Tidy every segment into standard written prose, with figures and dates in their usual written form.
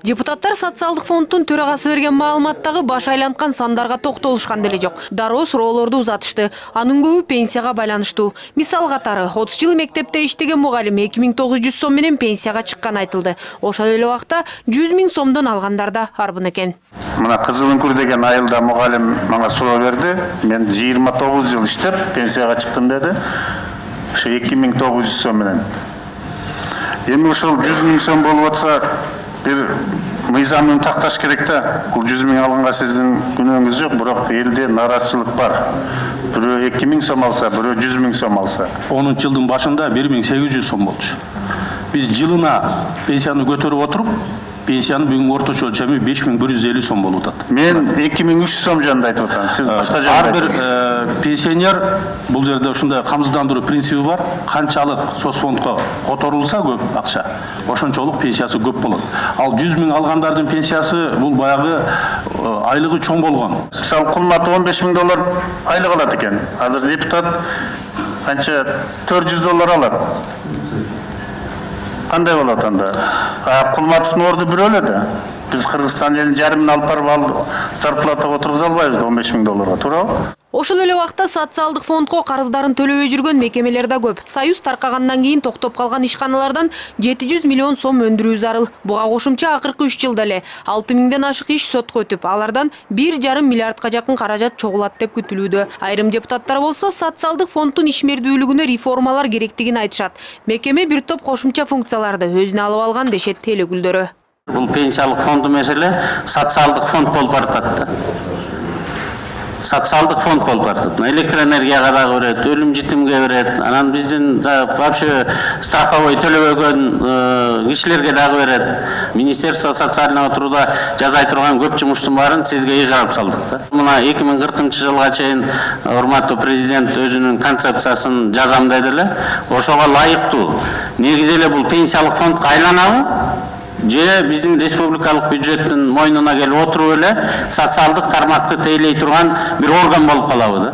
Депутаттар социалдык фонддун төрагасы берген маалыматтагы баш айланткан сандарга токтолушкан деле жок. Дароо суроолорду узатышты. Анын көбү пенсияга байланыштуу. Мисал катары 30 жыл мектепте иштеген мугалим 2900 сом менен пенсияга чыкканы айтылды. Ошол эле убакта 100 000 сомдон алгандар да арбын экен. Мына Кызыл үңкүр деген айылда мугалим мага суроо берди. Мен 29 жыл иштеп пенсияга чыктым деди. Ошо 2900 сом менен. Эми ошол 100 000 сом болуп атса, бир мыйзамын такташ керек да. Бул 100 000 алганга сиздин күнөөңүз жок, бирок элде наразычылык бар. Бирөө 2000 сом алса, бирөө 100 000 сом алса. 10-жылдын башында 1800 сом болчу. Биз жылына пенсияны көтөрүп отуруп, пенсиянын бүгүнкү орточо өлчөмү 5150 сом болуп атат. Мен 2300 сом жөнүндө айтып атам. Сиз башка жөнүндө. Ар бир пенсионер бул жерде ушундай камсыздандыруу принципи бар. Канчалык соцфондко которулса көп акча, ошончолук пенсиясы көп болот. Ал 100 000 алгандардын пенсиясы бул баягы айлыгы чоң болгон. Мисалы Кулматов 15 000 доллар айлык алат экен. Азыр депутат канча 400 доллар алат. Кандай болот анда? Кулматовдун орду бирөө эле да. Биз Кыргызстан элин жарымын алып барып зарплатага отургуза албайбыз 15 000 долларга, туурабы? Ошол эле убакта социалдык фондко карыздарын төлөбөй жүргөн мекемелер да көп. Союз таркагандан кийин токтоп калган ишканалардан 700 миллион сом өндүрүү зарыл. Буга кошумча акыркы 3 жылда эле 6 000ден ашык иш сотко өтүп, алардан 1,5 миллиардка жакын каражат чогулат деп күтүлүүдө. Айрым депутаттар болсо социалдык фонддун ишмердүүлүгүнө реформалар керектигин айтышат. Мекеме бир топ кошумча функцияларды өзүнө алып алган дешет эл өкүлдөрү. Бул пенсиялык фонду меселе социалдык фонд болуп баратат. Социалдык фонд болуп баратат. Электроэнергияга дагы берет, өлүм житимге берет. Анан биздин вообще страховой төлөбөгөн кишилерге дагы берет. Министерство социального труда жасай турган көп жумуштун баарын сизге ыйгарып салдык да. Мына 2040-жылга чейин урматтуу президент өзүнүн концепциясын жазам деди эле. Ошого ылайыктуу негизи эле бул пенсиялык фондко айланабы? Же биздин республикалык бюджеттин мойнуна келип отуруп эле социалдык тармакты тейлей турган бир орган болуп калабы да.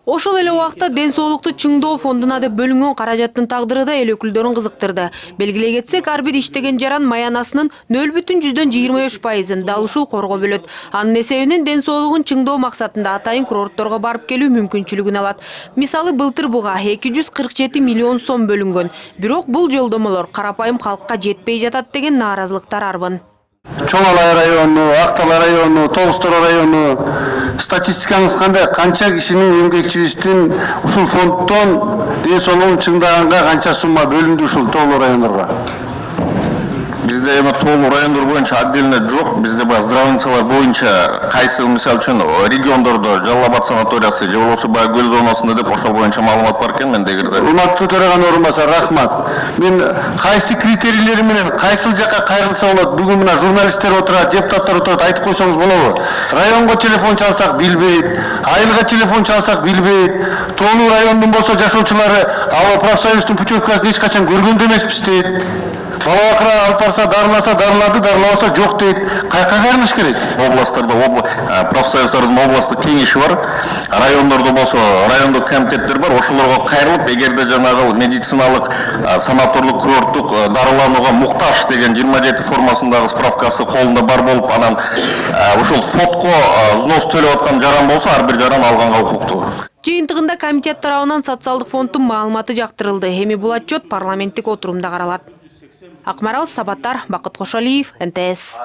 Ошол эле убакта ден соолукту чыңдоо фондуна деп бөлүнгөн каражаттын тагдыры да эл өкүлдөрүн кызыктырды. Белгилей кетсек, ар бир иштеген жаран маянасынын 0,25%-ын дал ушул корго бөлөт. Анын эсебинен ден соолугун чыңдоо максатында атайын курортторго барып келүү мүмкүнчүлүгүн алат. Мисалы, былтыр буга 247 миллион сом бөлүнгөн. Бирок бул жолдомолор карапайым калкка жетпей жатат деген нааразылыктар арбын. Чоң Алай району, Актала району, Толстор району статистикаңыз кандай? Канча кишинин эмгекчибиздин ушул фонддон ден соолугун чыңдаганга канча сумма бөлүндү ушул тоолуу райондорго? Бизде эми тоолуу райондор боюнча отдельно жок. Бизде баягы здравницалар боюнча кайсы мисалы үчүн региондордо Жалал Абад санаториясы же болбосо баягы көл зонасында деп ошол боюнча маалымат бар экен менде эгерде. Урматтуу төраганын орун басары, рахмат. Мен кайсы критерийлери менен кайсыл жакка кайрылса болот? Бүгүн мына журналисттер отурат, депутаттар отурат, айтып койсоңуз болобу? Районго телефон чалсак билбейт, айылга телефон чалсак билбейт. Тоолуу райондун болсо жашоочулары ал профсоюздун путевкасын эч качан көргөн да эмеспиз дейт. Бала бакыра алып барса дарыласа дарылады, дарылабаса жок дейт. Кайка кайрылыш керек? Областтарда профсоюздардын областтык кеңеши бар. Райондордо болсо райондук комитеттер бар. Ошолорго кайрылып, эгерде жанагы медициналык, санаторлук, курорттук дарыланууга муктаж деген 27 формасындагы справкасы колунда бар болуп, анан ушул фондко взнос төлөп аткан жаран болсо, ар бир жаран алганга укуктуу. Жыйынтыгында комитет тарабынан социалдык фонддун маалыматы жактырылды. Эми бул отчет парламенттик отурумда каралат. Акмарал Сабаттар, Бакыт Кошалиев, НТС.